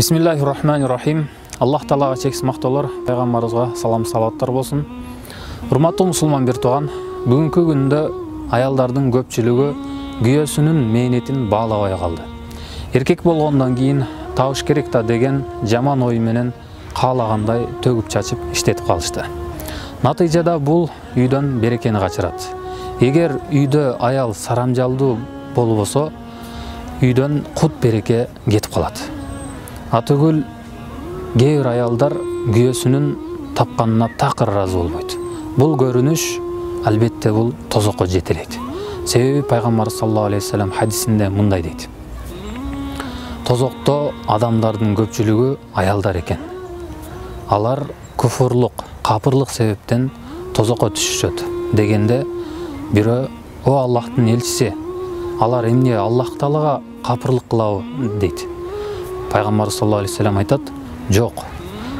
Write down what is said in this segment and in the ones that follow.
Бисмиллахир-рахманир-рахим. Аллах Таалага чексиз мактоолор, пайгамбарыбызга салам салаваттар болсун. Урматтуу мусулман бир тууган, бүгүнкү күндө аялдардын көпчүлүгү күйөөсүнүн мээнетин баалабай калды. Эркек болгондон кийин табыш керек да деген жаман ой менен каалагандай төгүп чачып иштетип калышты. Натыйжада бул үйдөн берекени качырат. Эгер үйдө аял сарамжалдуу болбосо, үйдөн кут береке кетип калат. Атөгүл кээ бир аялдар күйөөсүнүн тапканына такыр ыраазы болбойт. Бул көрүнүш албетте бул тозокко жетелейт. Себеби пайгамбар саллаллаху алейхи вассалам хадисинде мындай дейт: тозокто адамдардын көпчүлүгү аялдар экен. Алар куфурлук, капырлык себептен тозокко түшүшөт дегенде бирөө: "О Аллахтын элчиси, алар эмне Аллах Таалага капырлык кылабы?" дейт. Пайгамбар саллаллаху алейхи вассалам айтат: "Жок,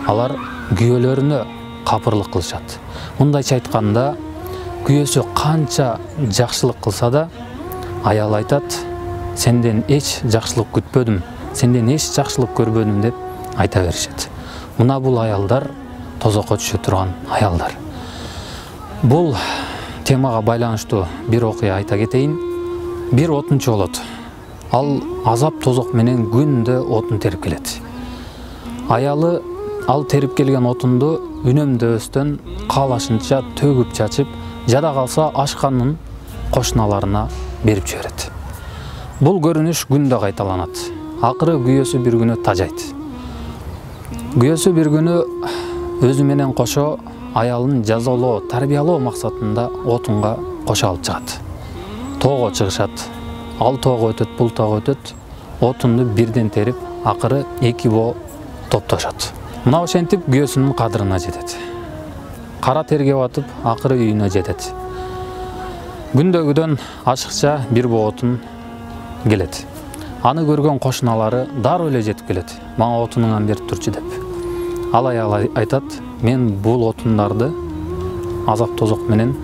алар күйөөлөрүнө капырлык кылышат." Мындайча айтканда, күйөөсү канча жакшылык кылса да, аял айтат: "Сенден эч жакшылык күтпөдүм, сенден эч жакшылык көрбөдүм" деп айта беришет. Мына бул аялдар тозокко түшө турган аялдар. Бул темага байланыштуу бир окуя айта кетейин. Бир отунчу болот. Ал азап тозок менен күндө отун терип келет. Аялы ал терип келген отунду үнөмдөбөстөн каалашынча төгүп чачып, жада калса ашканын кошуналарына берип жиберет. Бул көрүнүш күндө кайталанат. Акыры күйөөсү бир күнү тажайт. Күйөөсү бир күнү өзү менен кошо аялын жазалоо, тарбиялоо максатында отунга кошо алып чыгат. Тоого чыгышат. Ал тоого өтөт, бул тоого өтөт. Отунду бирден терип, акыры эки боо топтошот. Мына ошентип күйөөсүнүн кадырына жетет. Кара терге батып, акыры үйүнө жетет. Күндөгүдөн ашыкча бир боо отун келет. Аны көргөн кошуналары дароо эле жетип келет. "Мага отунуңан берип турчу" деп. Ал аял айтат: "Мен бул отундарды азап тозок менен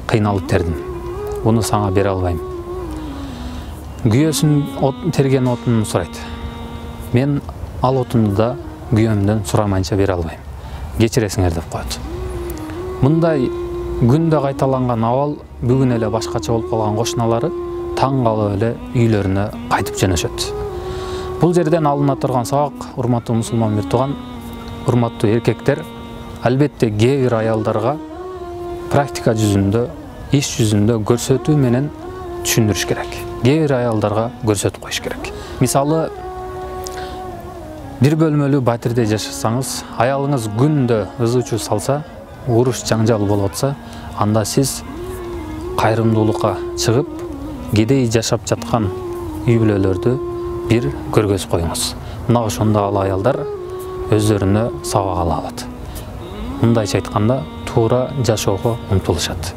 кыйналып тердим. Буну сага бере албайм." Күйөөсүн терген отунун сурайт. "Мен ал отунду да күйөөмдөн сурамайынча бере албайм. Кечиресиңер" деп коет. Мындай күндө кайталанган абал бүгүн эле башкача болуп калган кошуналары таң калып эле үйлөрүнө кайтып жөнөшөт. Бул жерден алына турган сабак, урматтуу мусулман бир тууган, урматтуу эркектер, албетте кээ бир аялдарга практика жүзүндө, иш жүзүндө көрсөтүү менен түшүндүрүш керек. Кээ бир аялдарга көрсөтүп коюш керек. Мисалы, бир бөлмөлүү батирде жашасаңыз, аялыңыз күндө ызы-чуу салса, уруш жаңжал болуп атса, анда сиз кайрымдуулукка чыгып, кедей жашап жаткан үй бүлөлөрдү бир көргөзүп коюңуз. Мына ошондо ал аялдар өздөрүнө сабак ала алат. Мындайча айтканда, туура жашоого умтулушат.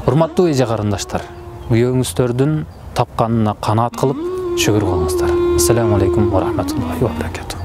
Урматтуу эже карындаштар, күйөөңүздөрдүн тапканына канаат кылып шүгүр кылыңыздар. Ассаламу алейкум ва рахматуллахи ва баракатух.